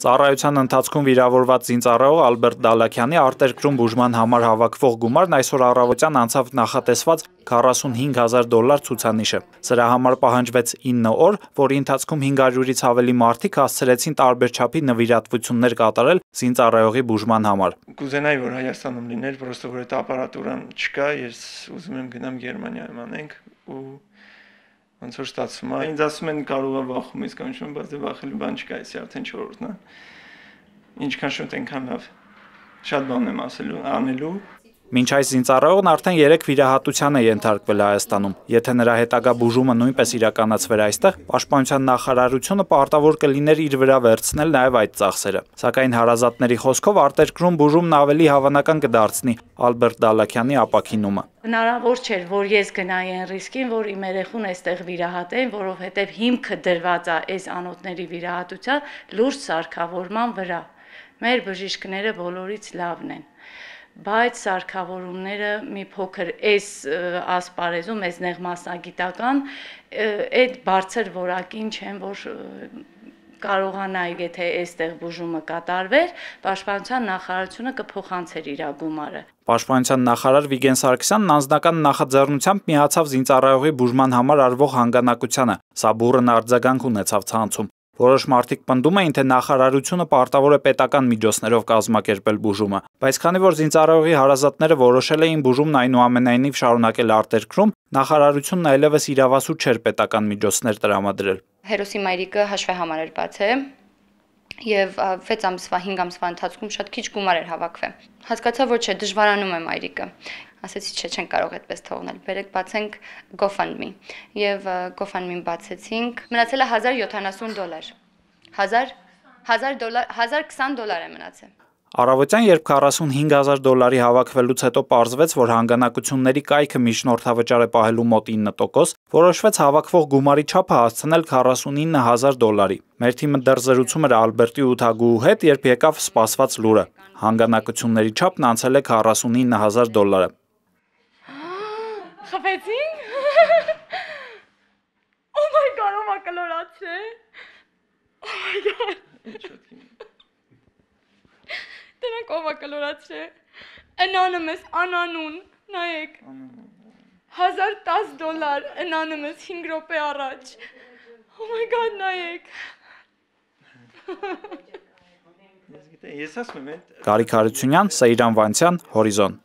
Ծառայության ընթացքում վիրավորված զինծառայող Ալբերտ Դալաքյանի արտերկրում բուժման համար հավաքվող գումարն այսօր առավոտյան անցավ նախատեսված $45,000 ցուցանիշը։ Սրա համար պահանջվեց 9 օր, որի ընթացքում 500-ից ավելի մարդիկ հասցրեցին տարբեր չափի նվիրատվություններ կատարել զինծառայողի բուժման համար։ Կուզենայի, որ Հայաստանում լիներ, պրոստը որ այդ ապարատուրան չկա, ես ուզում եմ գնամ Գերմանիայում անենք ու ոնց որ ստացվում է։ Ինձ ասում են կարող է վախում իսկ կանչում, բայց դե վախելու բան չկա, էսի արդեն 4-րդն է։ Ինչքան շուտ այնքան լավ։ Շատ բան եմ անելու։ Մինչ այս զինծառայողն արդեն 3 վիրահատության է ենթարկվել Հայաստանում։ Եթե նրա հետագա բուժումը նույնպես իրականացվեր այստեղ, Պաշտպանության նախարարությունը պարտավոր կլիներ իր վրա վերցնել նաև այդ ծախսերը։ Սակայն հարազատների խոսքով արտերկրում բուժումն ավելի հավանական կդարձնի Ալբերտ Դալաքյանի ապաքինումը։ Հնարավոր չէր, որ ես գնայի այն ռիսկին, որ իմ երեխուն այստեղ վիրահատեն, որովհետև հիմքը դրված է այս անոթների վիրահատության լուրջ սարքավորման վրա։ Մեր բժիշկները բոլորից լավն են, բայց սարքավորումները մի փոքր այս ասպարեզում, այս նեղ մասնագիտական, այդ բարձր որակին չեն, որ կարողանայի, եթե այստեղ բուժումը կատարվեր, Պաշտպանության նախարարությունը կփոխանցեր իր գումարը։ Պաշտպանության նախարար Վիգեն Սարգսյանն անձնական նախաձեռնությամբ միացավ զինծառայողի բուժման համար արվող հանգանակությանը։ Սա բուռն արձագանք ունեցավ ցանցում։ Որոշ մարդիկ պնդում էին, թե նախարարությունը պարտավոր է պետական միջոցներով կազմակերպել բուժումը, բայց քանի որ զինծառայողի հարազատները որոշել էին բուժումն այնուամենայնիվ շարունակել արտերկրում, նախարարությունն այլևս իրավասու չէր պետական միջոցներ տրամադրել։ Հերոսի մայրիկը հաշվեհամար էր բացել եւ 6 ամսվա 5 ամսվա ընթացքում շատ քիչ գումար էր հավաքվել։ Հասկացա, որ չէ, դժվարանում է մայրիկը։ Ասեցի, չէ, չեն կարող այդպես թողնել։ Բերեք բացենք GoFundMe։ Եվ GoFundMe-ին բացեցինք։ Մնացել է $1070։ $1020 է մնացել։ Առավոտյան, երբ $45,000 հավաքվելուց հետո պարզվեց, որ հանգանակությունների կայքը միջնորդավճար է պահելու մոտ 9%, որոշվեց հավաքվող գումարի չափը հասցնել $49,000։ Մեր թիմը դեռ զրուցում էր Ալբերտի ու Թագուհու հետ, երբ եկավ սպասված լուրը։ Հանգանակությունների չափն անցել է $49,000։ Խփեցին։ Oh my god, ո՞վ է կլորացրել։ Oh my god։ Դրանք ով է կլորացրել։ Anonymous, անանուն, նայեք։ $1010 Anonymous 5 րոպե առաջ։ Oh my god, նայեք։ Ես ասում եմ, Գարիկ Հարությունյան, Սեյրան Վանցյան, Հորիզոն։